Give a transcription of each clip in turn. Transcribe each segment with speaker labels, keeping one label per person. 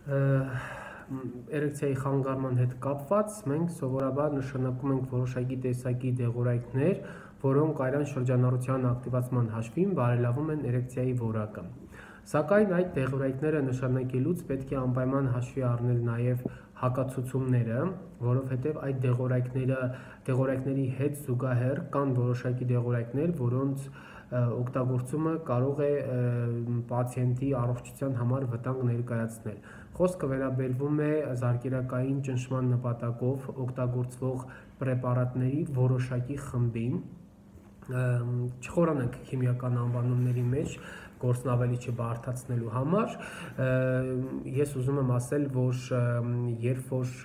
Speaker 1: Էրեկցիայի խանգարման հետ կապված մենք սովորաբար նշանակում ենք որոշակի տեսակի դեղորայքներ, որոնք արյան շրջանառության ակտիվացման հաշվին բարելավում են էրեկցիայի որակը։ Սակայն այդ դեղորայքները նշանակելուց պետք է անպայման հաշվի առնել նաև հակացուցումները, որովհետև այդ դեղորայքների հետ զուգահեռ կան որոշակի դեղորայքներ, որոնց օգտագործումը կարող է պացիենտի առողջության համար վտանգ ներկայացնել։ Խոսքը վերաբերվում է զարկերակային ճնշման նպատակով օգտագործվող պրեպարատների որոշակի խմբին, չխորանանք քիմիական անվանումների մեջ գործն ավելի չբարդացնելու համար, ես ուզում եմ ասել, որ երբ որ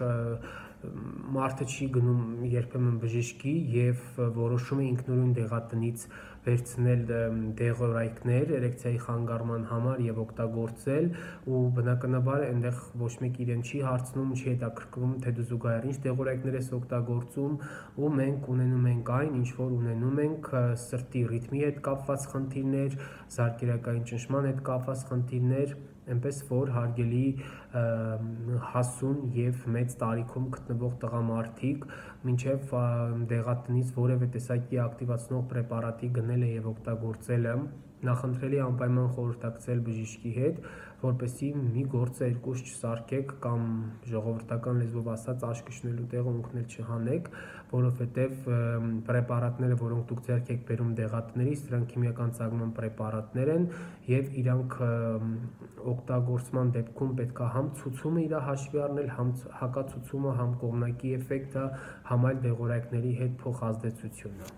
Speaker 1: մարդը չի գնում երբեմն բժշկի և որոշում է ինքնուրույն դեղատնից վերցնել դեղորայքներ էրեկցիայի խանգարման համար և օգտագործել, ու բնականաբար այնտեղ ոչ մեկ իրեն չի հարցնում, չի հետաքրքրում, թե դու զուգահեռ ինչ դեղորայքներ ես օգտագործում, ու մենք ունենում ենք այն, ինչ որ ունենում ենք սրտի ռիթմի հետ կապված խնդիրներ, զարկերակային ճնշման հետ կապված խնդիրներ, այնպես որ հարգելի հասուն և մեծ տարիքում գտնվող տղամարդիկ մինչև դեղատնից որևէ տեսակի ակտիվացնող պրեպարատի գնելը և օգտագործելը նախընտրելի է անպայման խորհրդակցել բժշկի հետ, որպեսզի մի գործը երկուս չսարքեք կամ ժողովրդական լեզվով ասած աշկը շնելու տեղը ունքնել չհանեք, որովհետև պրեպարատները, որոնք դուք ձեռք եք բերում դեղատներից, դրանք քիմիական ծագման պրեպարատներ են և իրանք օգտագործման դեպքում պետք է համ ցուցումը իր հաշվի առնել, համ հակացուցումը, համ կողմնակի էֆեկտը, համ այլ դեղորայքների հետ փոխազդեցությունը։